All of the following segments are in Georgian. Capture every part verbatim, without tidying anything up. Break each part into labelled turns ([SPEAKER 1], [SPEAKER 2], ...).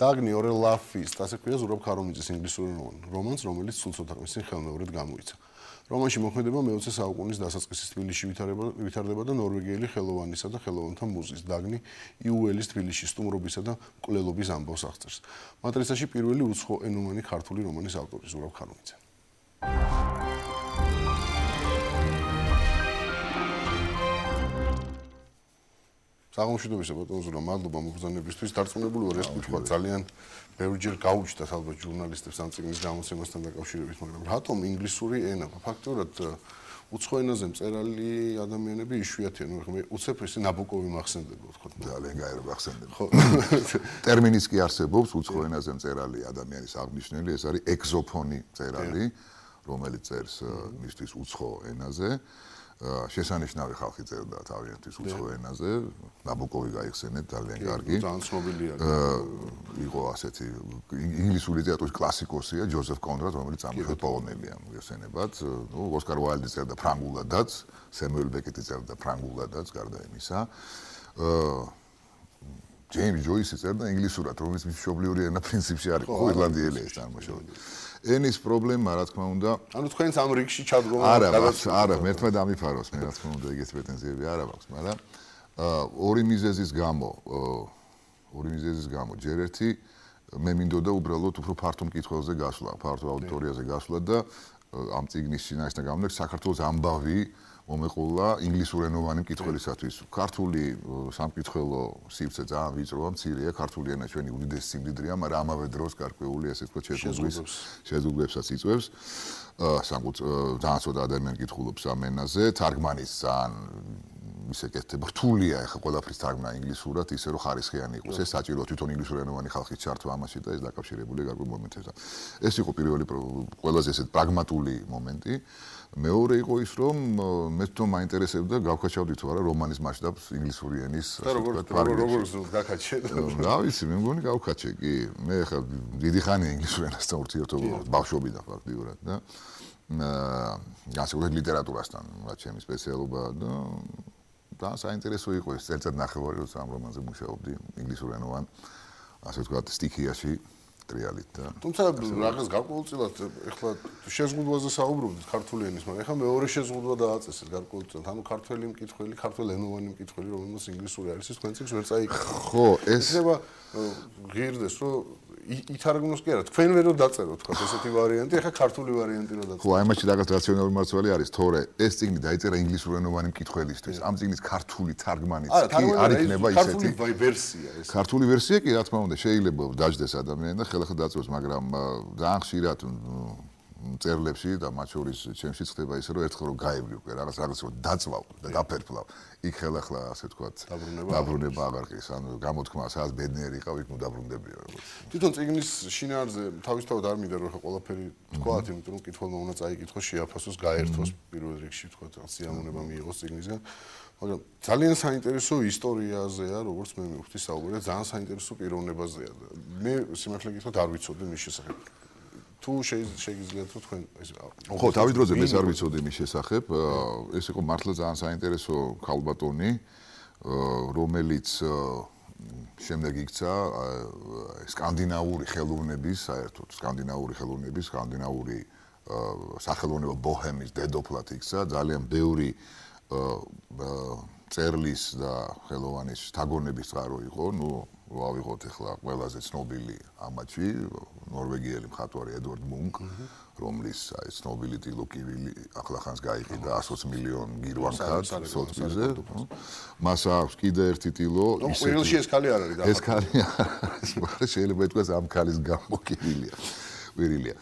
[SPEAKER 1] დაგნი ორელაფის, ასე ქვია ზურაბ ქარუმიძის ინგლისური რომანს, რომელიც სულ ცოტა წინ ხელმეორედ გამოიცა. რომანში მოქმედება მეოცე საუკუნის დასაწყისის თბილისში ვითარდება და ნორვეგიელი ხელოვანისა და ხელოვანთა მუზის დაგნი იუელის თბილისში სტუმრობისა და მკვლელობის ამბავს აღწერს. მატრიცაში პირველი უცხოენოვანი ქართული რომანის ავტორი ზურაბ ქარუმიძე. საღამოშვიდობისა ბატონო ზურაბ, მადლობა მოგზაურობისთვის. დარწმუნებული ვარ, ეს კითხვა ძალიან ბევრჯერ გაუჩნდათ ალბათ ჟურნალისტებს ამ წიგნის გამოცემასთან დაკავშირებით, მაგრამ რატომ ინგლისური ენა? ფაქტობრივად უცხო ენაზე მწერალი ადამიანები იშვიათია, ნუ მე უცებ ესე ნაბოკოვი მახსენდება, თქო.
[SPEAKER 2] ძალიან გაერო მახსენდება. ხო. ტერმინიც კი არსებობს უცხო ენაზე მწერალი ადამიანის აღნიშნული, ეს არის ეგზოფონი მწერალი, რომელიც წერს მისთვის უცხო ენაზე. შესანიშნავი ხალხი წერდა თავიანთის უცხო ენაზე, ნაბოკოვი გაიხსენეთ, ძალიან კარგი.
[SPEAKER 1] ძალიან ცნობილია.
[SPEAKER 2] იყო ასეთი ინგლისური ლიტერატურის კლასიკოსია ჯოზეფ კონრად, რომელიც ამხელ პოლონელია მოიხსენებათ. ნუ ოსკარ უაილდი წერდა ფრანგულადაც, სემუელ ბეკეტი წერდა ფრანგულადაც, გარდა იმისა. ჯეიმს ჯოისი წერდა ინგლისურად, რომელიც მშობლიური ენა პრინციპში არის ირლანდიელი ეს წარმოშობით. ენის პრობლემა, რა თქმა უნდა,
[SPEAKER 1] ანუ თქვენს ამ რიგში ჩადგომა
[SPEAKER 2] არა, არა, მერთმა დამიფაროს, მე რა თქმა უნდა, ეგეთ პრეტენზიები არ აქვს, მაგრამ ორი მიზეზის გამო, ორი მიზეზის გამო, ჯერ ერთი მე მინდოდა უბრალოდ უფრო ფართო მკითხველზე გასვლა, ფართო აუდიტორიაზე გასვლა და ამ წიგნის შინაარსთან გამომდინარე, საქართველოს ამბავი მომეყოლა ინგლისურენოვანი მკითხველისათვის. ქართული სამკითხველო სივრცე ძალიან ვიწროა, მცირეა, ქართული ენა ჩვენი უდიდესი სიმდიდრეა, მაგრამ ამავე დროს გარკვეული ასე ვთქვათ შეზღუდვებს შეზღუდვებსაც იწვევს. ძალიან ცოტა ადამიანი კითხულობს ამ ენაზე, თარგმანის ძალიან ისე კეთდება, რთულია ახლა ყველაფრის თარგმნა ინგლისურად, ისე რომ ხარისხიანი იყოს. ეს საჭიროა თვითონ ინგლისურენოვანი ხალხის ჩართვა ამაში და ეს დაკავშირებულია გარკვეულ მომენტებთან. ეს იყო პირველი ყველაზე ესეთ პრაგმატული მომენტი. მეორე იყო ის, რომ მე თვითონ მაინტერესებდა გავქაჩავდით თუ არა რომანის მასშტაბს ინგლისური ენის
[SPEAKER 1] და როგორ როგორ გაქაჩე?
[SPEAKER 2] რა ვიცი, მე მგონი გავქაჩე კი. მე ახლა დიდი ხანია ინგლისურ ენასთან ურთიერთობა, ბავშვობიდან ფაქტიურად და განსაკუთრებით ლიტერატურასთან, რაც ჩემი სპეციალობაა და და საინტერესო იყო ეს წელიწად ნახევარი, როცა ამ რომანზე მუშაობდი ინგლისურენოვან, ასე ვთქვათ, სტიქიაში. რეალით და
[SPEAKER 1] თუმცა რაღაც გარკვეულწილად ეხლა შეზღუდვაზე საუბრობთ ქართული ენის, მაგრამ ეხლა მეორე შეზღუდვა დააწესეთ გარკვეულწილად, ანუ ქართველი მკითხველი, ქართველენოვანი მკითხველი, რომელმაც ინგლისური არის, ის თქვენ წიგნს ვერ წაიკითხა.
[SPEAKER 2] ხო, ეს
[SPEAKER 1] შეიძლება ღირდეს, რომ ითარგმნოს კი არა, თქვენ ვერ დაწეროთ, თქვა ესეთი ვარიანტი, ეხლა ქართული ვარიანტი რო დაწეროთ.
[SPEAKER 2] ხო, აი მაშინ რაღაც რაციონალური მარცვალი არის, თორე ეს წიგნი დაიწერა ინგლისურენოვანი მკითხველისთვის. ამ წიგნის ქართული თარგმანიც კი არ იქნება ისეთი.
[SPEAKER 1] ქართული ვერსია ეს.
[SPEAKER 2] ქართული ვერსია კი, რა თქმა უნდა, შეიძლება დაждდეს ადამიანი და ხელახლა დაწევს, მაგრამ ძალიან ხშირად მწერლებში და მათ შორის ჩემში ხდება ისე, რომ ერთხელ რომ გაივლი უკვე რაღაც რაღაც რომ დაწვავ და დაფერფლავ. იქ ხელახლა ასე ვთქვათ, დაბრუნება აღარ ყის, ანუ გამოთქმა სადაც ბედნიერი იყავ, იქ მუდაბრუნდებია როგორც.
[SPEAKER 1] თვითონ წიგნის შინაარსზე თავისთავად არ მინდა რომ ხა ყველაფერი თქვათ, იმიტომ რომ კითხველმა უნდა წაიკითხოს, შეაფასოს, გაერთოს პირველ რიგში ვთქვათ, სიამოვნება მიიღოს წიგნისგან. მაგრამ ძალიან საინტერესო ისტორიაზეა, როგორც მე მივხვდი საუბარი, ძალიან საინტერესო პიროვნებაზეა. მე სიმართლე გითხრათ არ ვიცოდი მის შესახებ. თუ შეგიძლიათ რომ თქვენ ეს
[SPEAKER 2] ხო, თავის დროზე მე არ ვიცოდი მის შესახებ. ეს იყო მართლა ძალიან საინტერესო ქალბატონი, რომელიც შემდეგ იქცა სკანდინავური ხელოვნების, საერთოდ სკანდინავური ხელოვნების, სკანდინავური სახელოვნებო ბოჰემის დედოფლად იქცა, ძალიან ბევრი წერლის და ხელოვანის შთაგონების წყარო იყო, ნუ ვავიღოთ ახლა ყველაზე ცნობილი ამაჩი ნორვეგიელი მხატვარი ედვარდ მუნკ, რომლის აი ცნობილი ტილო კივილი ახლახანს გაიყიდა ასოც მილიონ გირვანქად სოციზე. მას აქვს კიდე ერთი ტილო,
[SPEAKER 1] ისე პირველში ეს ქალი არ არის და
[SPEAKER 2] ეს ქალი არის, შეიძლება ითქვას ამ ქალის გამო კივილია. ვირილია.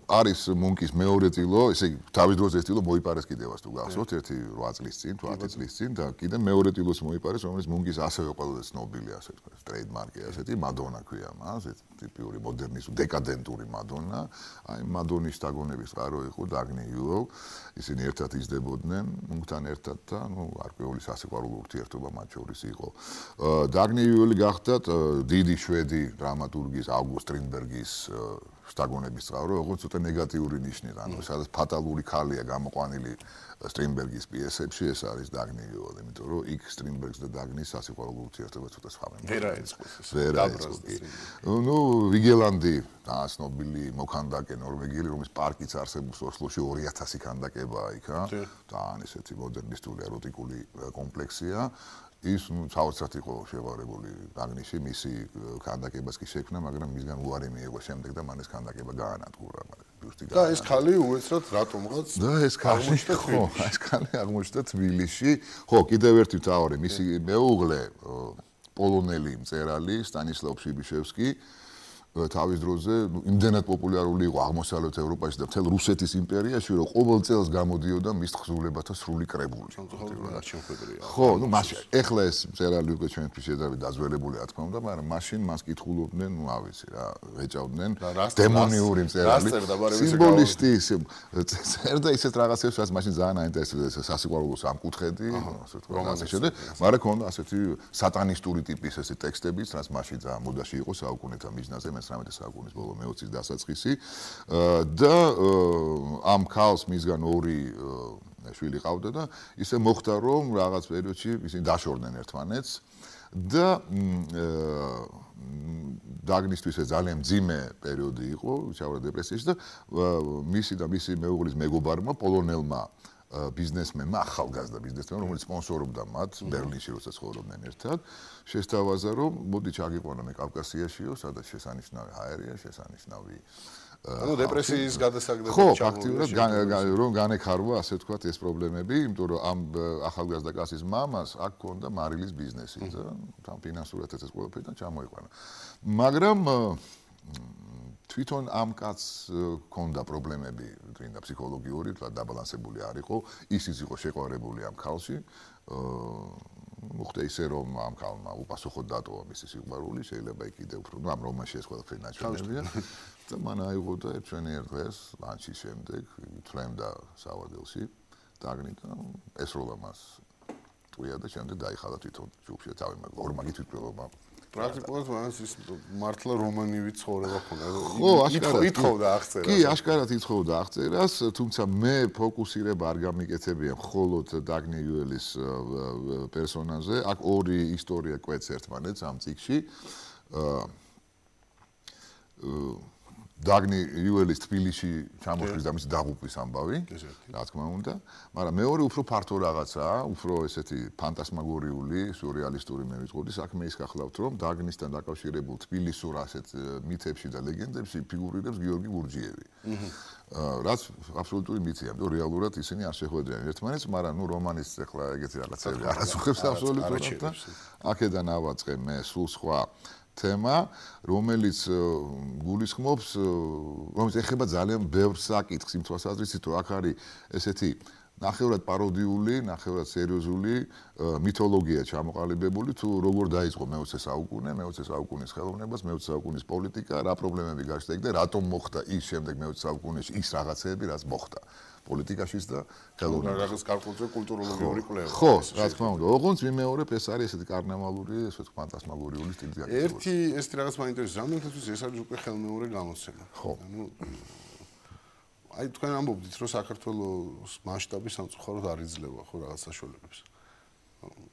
[SPEAKER 2] არის მუნკის მეორე ტილო, ესე იგი თავის დროზე ეს ტილო მოიპარეს კიდევაც თუ გახსოვთ, ერთი რვა წლის წინ, თუ ათი წლის წინ და კიდე მეორე ტილოს მოიპარეს, რომელიც მუნკის ასევე ყველაზე ცნობილი, ასე ვთქვათ, ტრეიდმარკი ასეთი მადონა ქვია მას, ეს ტიპიური მოდერნისტული, დეკადენტური მადონა. აი მადონის შთაგონების წყარო იყო დაგნი იუელ, ისინი ერთად იზრდებოდნენ, მუნკთან ერთად და ნუ გარკვეული სასიყვარულო ურთიერთობა მათ შორის იყო. დაგნი იუელი გახდათ დიდი შვედი დრამატურგის ავგუსტ სტრინბერგის სტაგონების წყარო, როგორც ცოტა ნეგატიური ნიშნით, ანუ სადაც ფატალური ქალია გამოყვანილი სტრინბერგის პიესებში, ეს არის დაგნი გიოლი, იმიტომ რომ იქ სტრინბერგს და დაგნის სასიყვარულო ურთიერთობა ცოტა სხვაა.
[SPEAKER 1] ვერ აეწყოს ეს.
[SPEAKER 2] ვერ აეწყოს. ნუ ვიგელანდი დააცნობილი მოქანდაკე ნორვეგიელი, რომლის პარკიც არსებობს ოსლოში ორი ათასი ქანდაკებაა იქ, თან ესეთი მოდერნისტული ეროტიკული კომპლექსია. ის ნუ საოცრად იყო შევარებული დაგნიში, მისი ქანდაკებას კი შექმნა, მაგრამ მისგან უარი მიიღო შემდეგ და მან ეს ქანდაკება გაანადგურა, მაგრამ ბიუსტი
[SPEAKER 1] და ეს ქალი უეცრად რატომღაც
[SPEAKER 2] და ეს ქალი ხო, ეს ქალი აღმოჩნდა თბილისში. ხო, კიდევ ერთი მთავარი, მისი მეუღლე პოლონელი მწერალი სტანისლავ ფშიბიშევსკი თავის დროზე იმდენად პოპულარული იყო აღმოსავლეთ ევროპაში და მთელ რუსეთის იმპერიაში, რომ ყოველ წელს გამოდიოდა მის თხზულებათა სრული კრებული. ხო, ნუ მაშინ ეხლა ეს მწერალი უკვე ჩვენთვის შედარებით დაძველებული რა თქმა უნდა, მაგრამ მაშინ მას კითხულობდნენ, ნუ ავიცი რა, ეჭავდნენ დემონიური მწერალი. სიმბოლისტი წერდა ისეთ რაღაცებს, რაც მაშინ ძალიან აინტერესებდა, სასიყვარულო სამკუთხედი, ასე თქვა, ასე შემდეგ, მაგრამ ქონდა ასეთი სატანისტური ტიპის ესე ტექსტებიც, რაც მაშინ ძალიან მოდაში იყო საუკუნეთა მიზნაზე. მესამედე საუკუნის ბოლო მეოცის დასაწყისი და ამ ქალს მისგან ორი შვილი ყავდა და ისე მოხდა რომ რაღაც პერიოდში ისინი დაშორდნენ ერთმანეთს და დაგნისთვის ეს ძალიან მძიმე პერიოდი იყო, ჩავარდა დეპრესიაში და მისი და მისი მეუღლის მეგობარმა პოლონელმა ბიზნესმენმა, ახალგაზრდა ბიზნესმენმა, რომელიც სპონსორობდა მათ ბერლინში, როცა ცხოვრობდნენ ერთად, შესთავაზა, რომ მოდი ჩაგიყვანა მე კავკასიაშიო, სადაც შესანიშნავი ჰაერია, შესანიშნავი
[SPEAKER 1] ანუ დეპრესიის გადასაგდები
[SPEAKER 2] ხო, ფაქტიურად რომ განექარვა, ასე ვთქვათ, ეს პრობლემები, იმიტომ რომ ამ ახალგაზრდა კაცის მამას აქ ჰქონდა მარილის ბიზნესი და თან ფინანსურადაც ეს ყველაფერი და ჩამოიყვანა. მაგრამ თვითონ ამ კაცს ჰქონდა პრობლემები, თუნდა ფსიქოლოგიური, თლად დაბალანსებული არ იყო, ისიც იყო შეყვარებული ამ ქალში. მოხდა ისე რომ ამ ქალმა უპასუხოდ დატოვა მისი სიყვარული, შეიძლება იქ კიდევ უფრო, ნუ ამ რომანში ეს ყველაფერი ნაჩვენებია. და მან აიღო და ერთვენიერ დღეს ლანჩის შემდეგ თვლემდა სავადელში დაგნი და ესროლა მას ტყვია და შემდეგ დაიხალა თვითონ ჯგუფში და თავი ორმაგი თვითმკვლელობა.
[SPEAKER 1] პრაქტიკულად მას ის მართლა რომანივი ცხოვრება ქონდა.
[SPEAKER 2] ხო, აშკარად
[SPEAKER 1] ითხოვდა აღწერას.
[SPEAKER 2] კი, აშკარად ითხოვდა აღწერას, თუმცა მე ფოკუსირება არ გამიკეთებია მხოლოდ დაგნი იუელის პერსონაჟზე. აქ ორი ისტორია კვეთს ერთმანეთს ამ წიგნში. დაგნი იუელის თბილისში ჩამოშლის და მის დაღუპვის ამბავი, რა თქმა უნდა, მაგრამ მეორე უფრო ფართო რაღაცაა, უფრო ესეთი ფანტასმაგორიული, სიურრეალისტური მე ვიტყოდი, საქმე ის გახლავთ, რომ დაგნისთან დაკავშირებულ თბილისურ ასეთ მითებში და ლეგენდებში ფიგურირებს გიორგი გურჯიევი. რაც აბსოლუტური მითია, იმიტომ რეალურად ისინი არ შეხვედრიან ერთმანეთს, მაგრამ ნუ რომანის ახლა ეგეთი რაღაცები არ აწუხებს აბსოლუტურად და აქედან ავაწყე მე სულ სხვა თემა, რომელიც გულისხმობს, რომელიც ეხება ძალიან ბევრ საკითხს იმ თვალსაზრისით, რომ აქ არის ესეთი ნახევრად პაროდიული, ნახევრად სერიოზული მითოლოგია ჩამოყალიბებული, თუ როგორ დაიწყო მეოცე საუკუნე, მეოცე საუკუნის ხელოვნებას, მეოცე საუკუნის პოლიტიკა, რა პრობლემები გაჩნდა იქ და რატომ მოხდა ის შემდეგ მეოცე საუკუნეში ის რაღაცეები, რაც მოხდა პოლიტიკაშიც და ხელოვნებაში.
[SPEAKER 1] რაღაც გარკვეულწილად კულტუროლოგიური კვლევა.
[SPEAKER 2] ხო, რა თქმა უნდა. ოღონდ მიმეორებ ეს არის ესეთი კარნავალური, ესე ფანტასმაგორიული სტილი გაკეთებული.
[SPEAKER 1] ერთი ეს რაღაც მაინტერესებს, რამდენადაც ეს არის უკვე ხელმეორე გამოცემა.
[SPEAKER 2] ხო.
[SPEAKER 1] ანუ აი თქვენ ამბობდით, რომ საქართველოს მასშტაბი სამწუხაროდ არ იძლევა ხო რაღაც საშუალებებს.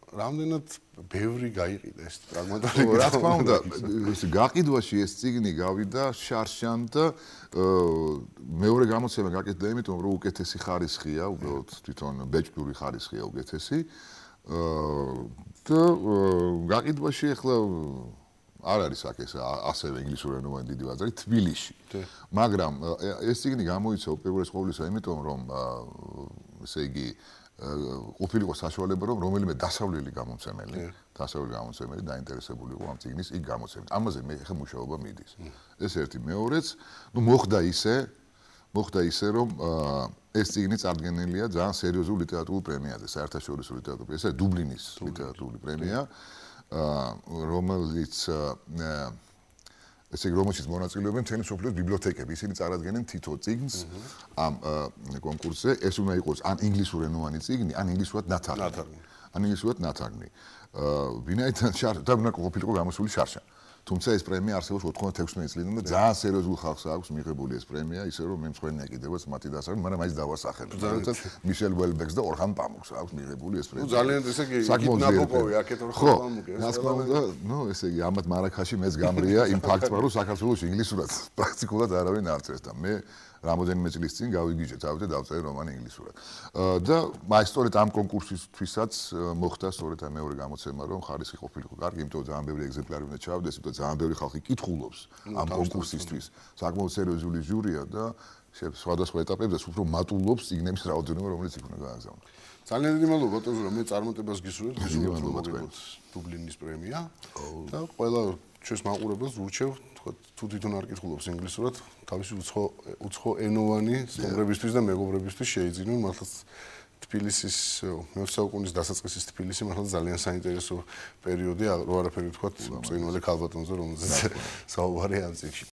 [SPEAKER 1] რამდენად ბევრი გაიყიდა ეს პრაგმატული.
[SPEAKER 2] რა თქმა უნდა, ეს გაყიდვაში ეს წიგნი გავიდა შარშან და მეორე გამოცემა გაკეთდა იმიტომ, რომ უკეთესი ხარისხია, უბრალოდ თვითონ ბეჭდური ხარისხია უკეთესი. და გაყიდვაში ახლა არ არის აქ ეს ასევე ინგლისურენოვანი დიდი ბაზარი თბილისში. მაგრამ ეს წიგნი გამოიცა უპირველეს ყოვლისა იმიტომ, რომ ესე იგი ყოფილიყო საშუალება, რომ რომელიმე დასავლელი გამომცემელი, დასავლელი გამომცემელი დაინტერესებული იყო ამ წიგნის იქ გამოცემით. ამაზე მე ხე მუშაობა მიდის. ეს ერთი, მეორეც, ნუ მოხდა ისე, მოხდა ისე, რომ ეს წიგნი წარდგენილია ძალიან სერიოზულ ლიტერატურულ პრემიაზე, საერთაშორისო ლიტერატურულ პრემიაზე, ეს დუბლინის ლიტერატურული პრემია, რომელიც ესე რომელშიც მონაწილეობენ მთელი მსოფლიოს ბიბლიოთეკები. ისინი წარადგენენ თითო წიგნს ამ კონკურსზე. ეს უნდა იყოს ან ინგლისურენოვანი წიგნი, ან ინგლისურად ნათარგმნი. ან ინგლისურად ნათარგმნი. ვინაიდან და უნდა ყოფილიყო გამოსული შარშან. თუმცა ეს პრემია არსებობს ოთხმოცდაექვსი წლიდან და ძალიან სერიოზულ ხალხს აქვს მიღებული ეს პრემია, ისე რომ მე მსხვერპლია კიდევაც მათი დასახელება, მაგრამ მაინც დავასახელებ. როდესაც მიშელ ველბექს და ორხან პამუქს აქვს მიღებული ეს პრემია.
[SPEAKER 1] ძალიან ესე იგი ნაბოკოვი აქეთ ორხან პამუკი.
[SPEAKER 2] რა თქმა უნდა, ნუ ესე იგი ამათ მარაქაში მეც გამრია იმ ფაქტმა, რომ საქართველოს ინგლისურად პრაქტიკულად არავინ არ წერს და მე რამოდენიმე წლის წინ გავიგიჟე თავზე დავწერე რომანი ინგლისურად. და აი სწორედ ამ კონკურსისთვისაც მოხდა სწორედ ამ მეორე გამოცემა, რომ ხარისხი ყოფილიყო კარგი, იმიტომ რომ ძალიან ბევრი ეგზემპლარი უნდა ჩავდეს, იმიტომ ძალიან ბევრი ხალხი კითხულობს ამ კონკურსისთვის. საკმაოდ სერიოზული ჟურია და სხვადასხვა ეტაპებზე უფრო მატულობს წიგნების რაოდენობა, რომელიც იქ უნდა გააგზავნოს.
[SPEAKER 1] ძალიან დიდი მადლობა ბატონო, რომ მე წარმატებას გისურვებთ, გისურვებთ რომ მოგიგოთ დუბლინის პრემია და ყველა ჩვენს მაყურებელს ურჩევ, თქვა თუ თვითონ არ კითხულობს ინგლისურად, თავისი უცხო უცხო ენოვანი სტუმრებისთვის და მეგობრებისთვის შეიძინონ, მართლაც თბილისის მეოცე საუკუნის დასაწყისის თბილისი მართლაც ძალიან საინტერესო პერიოდია, რო არაფერი ვთქვა ბრწყინვალე ქალბატონზე, რომელზეც საუბარია ამ წიგნში.